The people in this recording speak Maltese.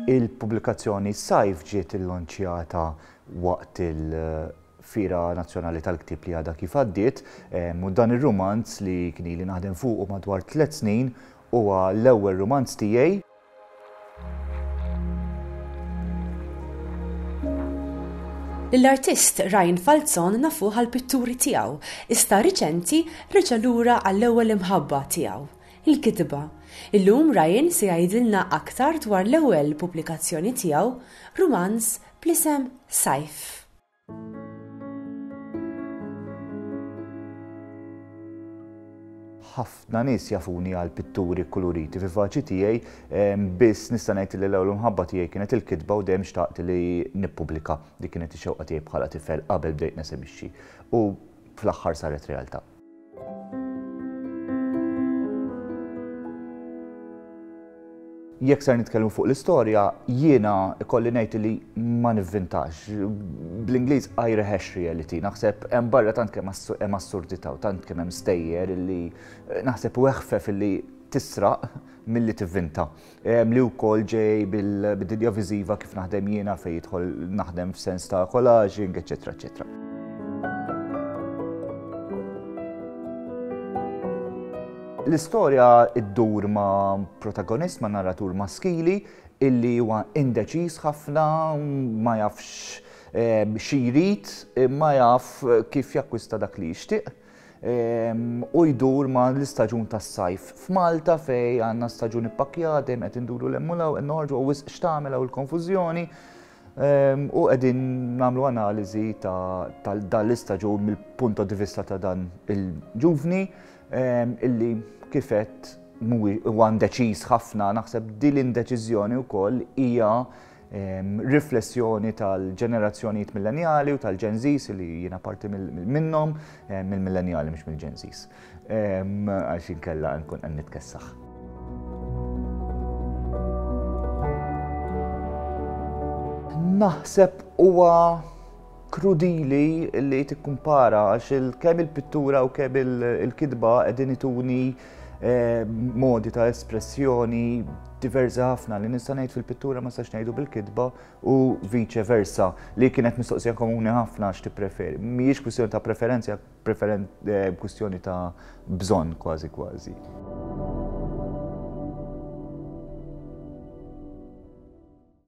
Il-pubblikazzjoni Sajf ġiet illonċjata waqt il-Fiera Nazzjonali tal-Ktieb li għadha kif għaddiet u dan ir-rumanz li kien ili naħdem fuqu madwar tliet snin huwa l-ewwel rumanz tiegħi. Lill-artist Ryan Falzon nafuh għall-pitturi tiegħu, iżda riċenti reġa' lura għall-ewwel imħabba tiegħu, il-kitba. Illum Ryan se jgħidilna aktar dwar l-ewwel pubblikazzjoni tiegħu, rumanz bl-isem Sajf. Ħafna nies jafuni għal pitturi kkuluriti vivaċi tiegħi, biss nista' ngħid li l-ewwel imħabba tiegħi kienet il-kitba u dejjem xtaqt li nippubblika. Dik kienet ix-xewqa tiegħi bħala tifel qabel bdejt nesebixxi. U fl-aħħar saret realtà. Jekk ser nitkellmu fuq l-istorja, jiena ikolli ngħid li ma nivvintax. Bl-Ingliż I rehash reality. Naħseb hemm barra tant kemm hemm assurdità u tant kemm hemm stejjer illi naħseb u eħfef illi tisraq milli tivvinta. Li wkoll ġej bil-dinja viżiva kif naħdem jiena fejn jidħol naħdem f'sens ta' collaging, eċetera, eċetera. L-istorja ddur ma' protagonist, ma' narratur maskili illi huwa indeċiż ħafna, ma jafx eh, xi jrid, ma jaf kif jakkwista dak li jixtieq. Ehm, u jdur ma l-istaġun tas-sajf f'Malta fej għandna staġun ippakkjat, dejjem qed induru l-emmulaw, qed noħorġu u wisq x'tagħmel hawn il-konfużjoni. Ehm, u qegħdin nagħmlu analiżi ta' dan l-istaġun mill-punto di vista ta' dan il-ġuvni ehm, illi kifet huwa indeċiż ħafna, naħseb din l-indeċiżjoni wkoll hija ehm, riflessjoni tal-ġenerazzjonijiet millenjali u tal-Gen Zs li jiena parti minnhom, mill-millenjali mhux mill-Gen Zs. Għax inkella nkun qed nitkessaħ. Naħseb huwa krudili li tikkumpara għax kemm il-pittura u kemm il-kitba qegħdin ituni eh, modi ta' espressjoni diversi ħafna li nista' ngħid fil-pittura ma nistax ngħidu bil-kitba u vice versa li kienet mistoqsija komuni ħafna għax tippreferi. Mhijiex kwistjoni ta' preferenza, preferen eh, kwistjoni ta' bżonn kważi kważi.